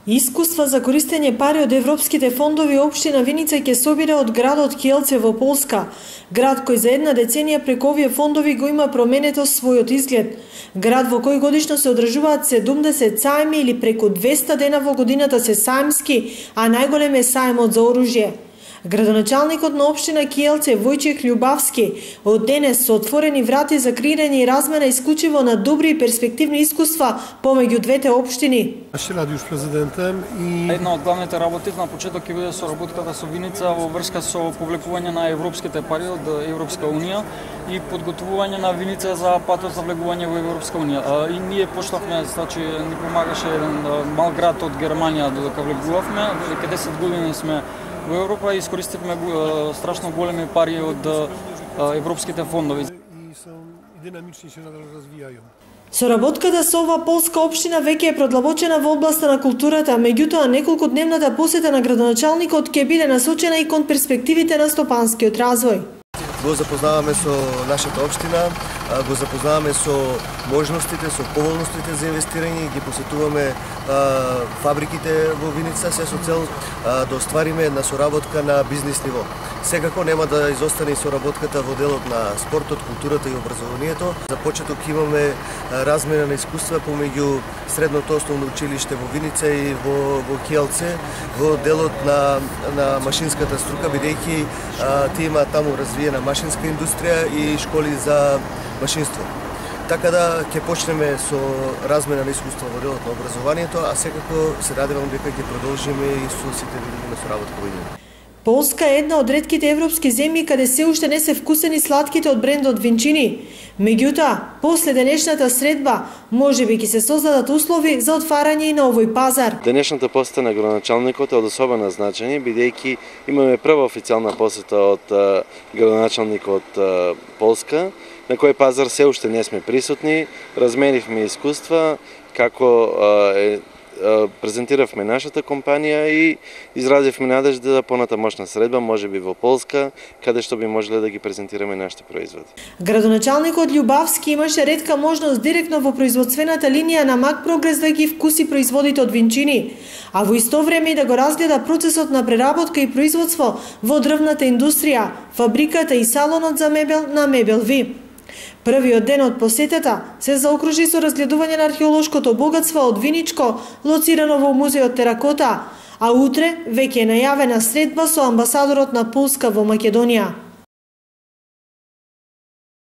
Искуства за користење пари од европските фондови општина Виница ќе собира од градот Киелце во Полска, град кој за една деценија преку овие фондови го има променето својот изглед. Град во кој годишно се одржуваат 70 сајми или преку 200 дена во годината се сајмски, а најголем е сајмот за оружје. Градоначалникот на општина Киелце Војчех Љубавски од денес со отворени врати за креирање и размена исклучиво на добри и перспективни искуства помеѓу двете општини. Ще ради уж президентем и една од главните работи на почеток ќе биде соработката со Виница во врска со повлекување на европските пари од Европска унија и подготвување на Виница за патот за влегување во Европска унија. И ние почнавме, значи ни помагаше еден мал град од Германија додека влегувавме, веќе 10 години сме во Европа и искористивме страшно големи пари од европските фондови. И динамични се развијају. Соработката со ова полска општина веќе е продлабочена во областа на културата, меѓутоа неколкудневната посета на градоначалникот ќе биде насочена и кон перспективите на стопанскиот развој. Го запознаваме со нашата општина, го запознаваме со можностите, со поволностите за инвестирање, ги посетуваме фабриките во Виница, се со цел да оствариме една соработка на бизнис ниво. Секако нема да изостане и соработката во делот на спортот, културата и образованието. За почеток имаме размена на искуства помеѓу средното основно училиште во Виница и во Киелце во делот на машинската струка, бидејќи тие има таму развиена машинска индустрија и школи за машинство. Така да ќе почнеме со размена на искуства во делот на образованието, а секако се надевам дека ќе продолжиме и со сите видови на соработка во нив. Полска е една од ретките европски земји каде се уште не се вкусени сладките од брендот Винчини. Меѓутоа, после денешната средба, можеби ќе се создадат услови за отварање и на овој пазар. Денешната посета на градоначалникот е од особено значење, бидејќи имаме прва официјална посета од градоначалникот Полска, на кој пазар се уште не сме присутни, разменивме искуства, како презентиравме нашата компанија и изразивме надежда за понатамошна средба, можеби во Полска, каде што би можеле да ги презентираме нашите производи. Градоначалникот Љубавски имаше ретка можност директно во производствената линија на Мак Прогрес да ги вкуси производите од Винчини, а во исто време и да го разгледа процесот на преработка и производство во дрвната индустрија, фабриката и салонот за мебел на Мебел Ви. Првиот ден од посетата се заокружи со разгледување на археолошкото богатство од Виничко, лоцирано во музеот Теракота, а утре веќе е најавена средба со амбасадорот на Полска во Македонија.